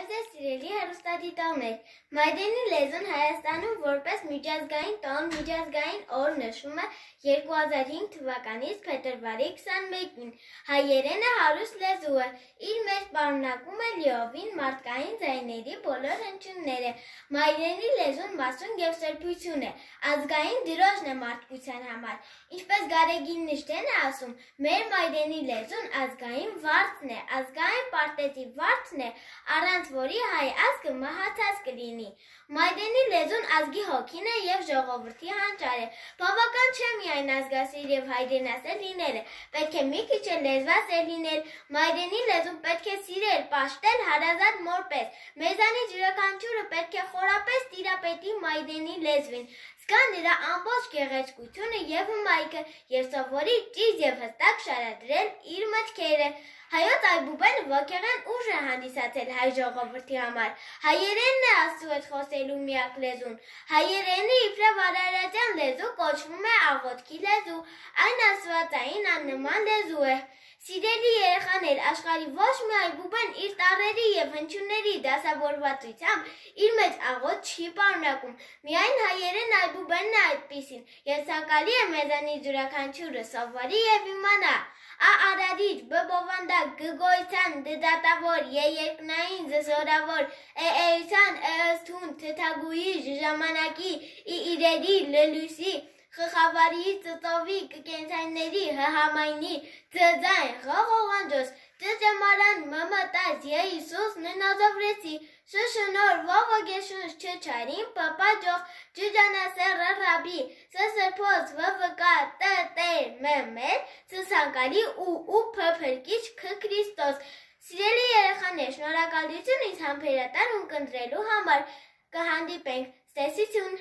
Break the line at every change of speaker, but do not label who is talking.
Բարև ձեզ սիրելի հեռուստադիտողներ, Մայրենի լեզուն Հայաստանում որպես միջազգային տոն միջազգային օր նշվում է 2005 թվականից փետրվարի 21-ին։ Հայերենը հարուստ լեզու է, իր մեջ պարունակում է լիովին մարդկային ձայների բոլոր հնչյունները։ Մայրենի լեզուն մասունք և սրբություն է, ազգային դրոշն է մարդկության համար։ Ինչպես Գարեգին Նժդեն է ասում, մեր մայրենի լեզուն ազգային վարձն է, ազգային պարտեզի վարձն է, առանց որի հայ ազգը մահացած կլինի։ Մայրենի լեզուն ազգի հոգին է և ժողովրդի հանճարը։ Բավական չէ միայն ազգասեր և հայրենասեր լինելը, պետք է մի քիչ էլ լեզվասեր լինել։ Մայրենի լեզուն պետք է սիրել, պաշտել հարազատ մոր պես։ Մեզանից յուրաքանչյուրը պետք է խորապես տիրապետի մայրենի լեզվին, զգա նրա ամբողջ գեղեցկությունը և հմայքը և սովորի ճիշտ և հստակ շարադրել իր մտքերը։ Հայոց այբուբենը ոգեղեն ուժ է հանդիսացել հայ ժողովրդի համար։ Հայերենն է Աստծու հետ խոսելու միակ լեզուն։ Հայերենը իբրև արարատյան լեզու կոչվում է աղոթքի լեզու, այն աստվածային աննման լեզու է։ Սիրելի երեխաներ, աշխարհի ոչ մի այբուբեն իր տառերի և հնչյունների դասավորվածությամբ իր մեջ աղոթք չի պարունակում։ Միայն հայերեն այբուբենն է այդպիսին, և ցանկալի է մեզանից յուրաքանչյուրը սովորի և իմանա։ Ա արարիչ, բ բովանդակ, գ գոյության, դ դատավոր, ե երկնային, զ զորավոր, էության, ըսթուն, թթագուի, ժ ժամանակի, ի իրերի, լ լույսի, խ խավարի, ծծովի, կկենցանների, հ համայնի, ձ ձայն, ղ ղողանջոս, ծ ջամարան, մ մտած, ե Հիսուս, ն նազովրեցի, շ շնոր, վ ոգեշունչ, չ չարին, փ պաջող, ջ ջանասեռ, ռ ռաբի, ս սրբոց, վ վկա, տ տեր, մ մեր, ց ցանկալի, ու փ փրկիչ, ք Քրիստոս։ Սիրելի երեխաներ, շնորհակալություն ինձ համբերատար ունկնդրելու համար։ Կհանդիպենք, ցտեսություն։